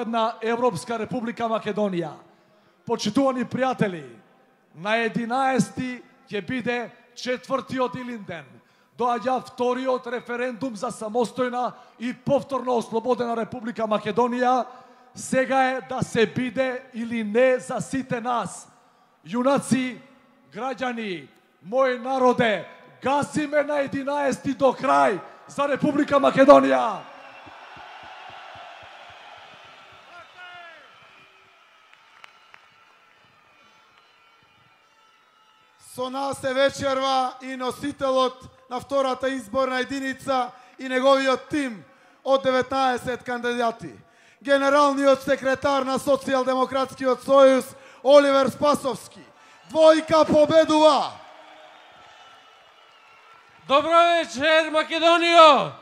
на Европска република Македонија. Почитувани пријатели, на 11 ќе биде 4-тиот Илинден. Доаѓа вториот референдум за самостојна и повторно ослободена Република Македонија. Сега е да се биде или не за сите нас. Јунаци, граѓани, мој народе, гасиме на 11 до крај за Република Македонија. Со нас е вечерва и носителот на втората изборна единица и неговиот тим од 19 кандидати. Генералниот секретар на Социјалдемократскиот сојуз Оливер Спасовски. Двојка победува! Добро вечер, Македонијо!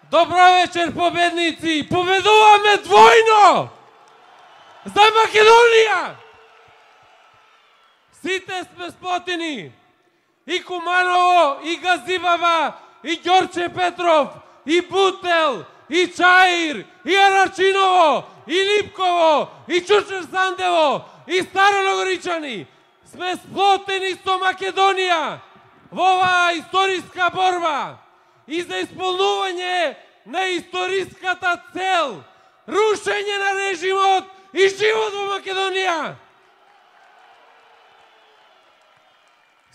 Добро вечер, победници! Победуваме двојно! За Македонија! Сите сме сплотени! И Куманово, и Газибаба, и Ѓорче Петров, и Бутел, и Чаир, и Арачиново, и Липково, и Чучер Сандево, и Староногоричани. Сме сплотени со Македонија во оваа историска борба и за исполнување на историската цел, рушење на режимот и живот во Македонија.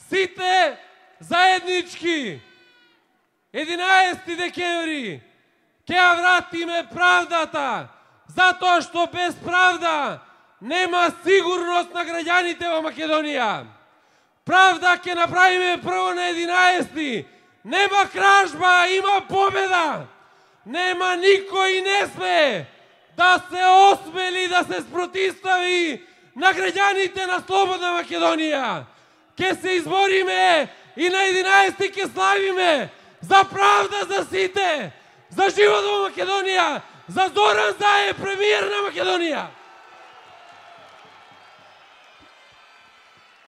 Сите заеднички 11 декември ќе ја вратиме правдата, затоа што без правда нема сигурност на граѓаните во Македонија. Правда ќе направиме прво на 11. Нема кражба, има победа. Нема никој не сме да се осмели да се спротивстави на граѓаните на слободна Македонија. Ке се избориме и на 11 ке славиме за правда за сите, за живот во Македонија, за Зоран Заев, премиер на Македонија.